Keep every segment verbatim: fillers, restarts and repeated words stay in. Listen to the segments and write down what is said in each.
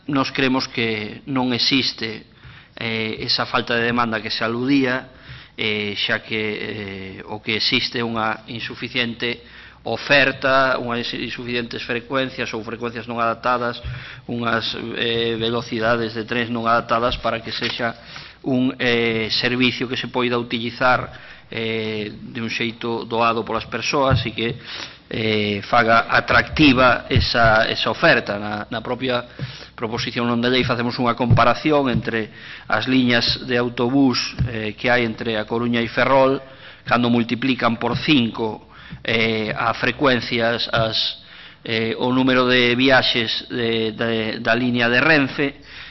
nos creemos que non existe eh, esa falta de demanda que se aludía, eh, xa que eh, o que existe é unha insuficiente oferta, unhas insuficientes frecuencias ou frecuencias non adaptadas, unhas eh, velocidades de trens non adaptadas para que sexa un eh, servicio que se poida utilizar eh, de un xeito doado polas persoas e que eh, faga atractiva esa, esa oferta. Na, na propia proposición non de lei facemos unha comparación entre as liñas de autobús eh, que hai entre A Coruña e Ferrol, cando multiplican por cinco eh, a frecuencias, as, eh, o número de viaxes de, de, da línea de Renfe,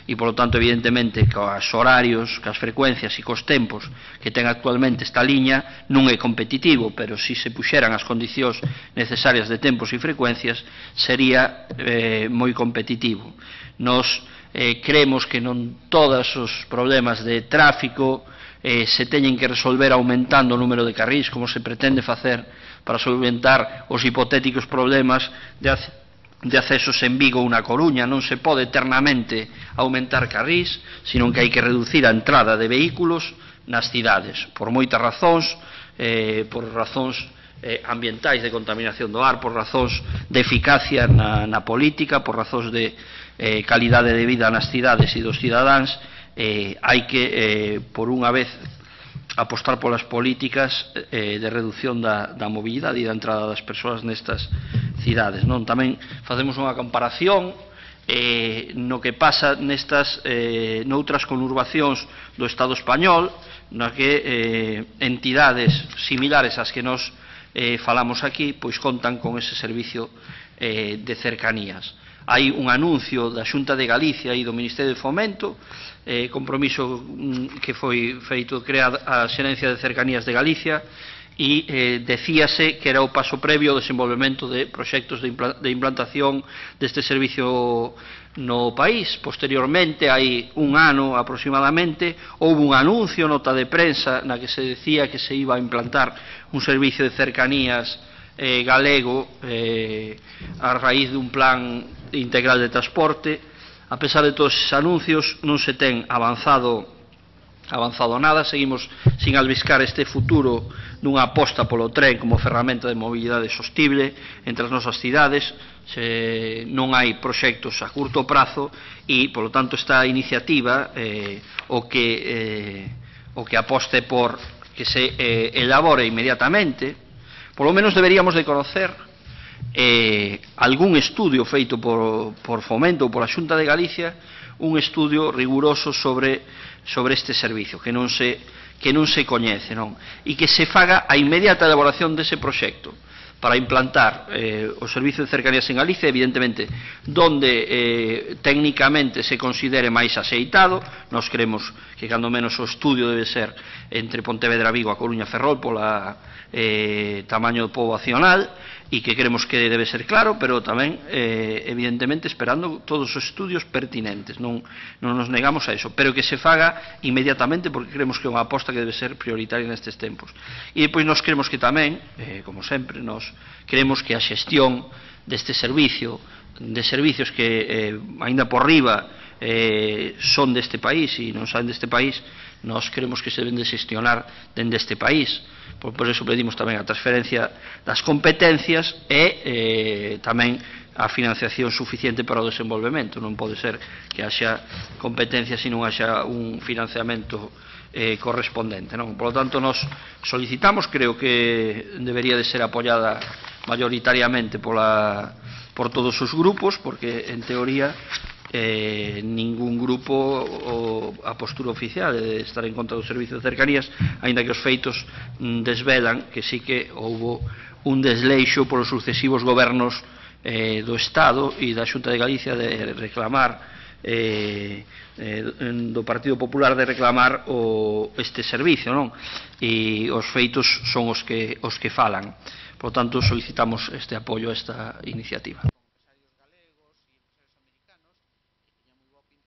e, polo tanto, evidentemente, cos horarios, cos frecuencias e cos tempos que ten actualmente esta liña, non é competitivo, pero se se puxeran as condicións necesarias de tempos e frecuencias, sería eh, moi competitivo. Nos eh, creemos que non todos os problemas de tráfico eh, se teñen que resolver aumentando o número de carrís, como se pretende facer para solventar os hipotéticos problemas de de accesos en Vigo ou na Coruña. Non se pode eternamente aumentar carrís, senón que hai que reducir a entrada de vehículos nas cidades, por moitas razóns, eh, por razóns eh, ambientais de contaminación do ar, por razóns de eficacia na, na política, por razóns de eh, calidade de vida nas cidades e dos cidadáns. Eh, hai que, eh, por unha vez, apostar polas políticas eh, de reducción da, da mobilidade e da entrada das persoas nestas cidades, non? Tamén facemos unha comparación eh, no que pasa nestas eh, noutras conurbacións do Estado español, na que eh, entidades similares ás que nos eh, falamos aquí, pois contan con ese servicio eh, de cercanías. Hai un anuncio da Xunta de Galicia e do Ministerio de Fomento, eh, compromiso que foi feito crear a Xerencia de Cercanías de Galicia, e eh, decíase que era o paso previo ao desenvolvemento de proxectos de, impla de implantación deste servicio no país. Posteriormente, hai un ano aproximadamente, houve un anuncio, nota de prensa, na que se decía que se iba a implantar un servicio de cercanías eh, galego eh, a raíz dun plan integral de transporte. A pesar de todos esses anuncios, non se ten avanzado avanzado nada, seguimos sin albiscar este futuro dunha aposta polo tren como ferramenta de mobilidade sostible entre as nosas cidades. Se non hai proxectos a curto prazo e, polo tanto, esta iniciativa eh, o que eh, o que aposte por que se eh, elabore inmediatamente. Polo menos deberíamos de conocer eh, algún estudio feito por, por Fomento ou pola Xunta de Galicia, un estudio riguroso sobre, sobre este servicio, que non se, que non se coñece, non? E que se faga a inmediata elaboración dese proxecto para implantar eh, o servicio de cercanías en Galicia, evidentemente, donde eh, técnicamente se considere máis axeitado. Nos creemos que, cando menos, o estudio debe ser entre Pontevedra, Vigo, A Coruña, Ferrol, pola eh, tamaño poboacional, e que creemos que debe ser claro, pero tamén, eh, evidentemente, esperando todos os estudios pertinentes. Non, non nos negamos a eso, pero que se faga inmediatamente, porque creemos que é unha aposta que debe ser prioritaria nestes tempos. E depois nos creemos que tamén, eh, como sempre, nos creemos que a xestión deste servicio, de servicios que, eh, aínda por riba, eh, son deste país e non saen deste país, nos creemos que se deben de xestionar dende este país. Por, por eso pedimos tamén a transferencia das competencias e eh, tamén a financiación suficiente para o desenvolvemento. Non pode ser que haxa competencias e non haxa un financiamento eh, correspondente, non? Por lo tanto, nos solicitamos, creo que debería de ser apoiada mayoritariamente pola, por todos os grupos, porque, en teoría, Eh, ningún grupo o a postura oficial de estar en contra do servicio de cercanías, aínda que os feitos mm, desvelan que sí que houbo un desleixo polos sucesivos gobernos eh, do Estado e da Xunta de Galicia de reclamar eh, eh, do Partido Popular de reclamar o, este servicio, non? E os feitos son os que, os que falan. Por lo tanto, solicitamos este apoio a esta iniciativa.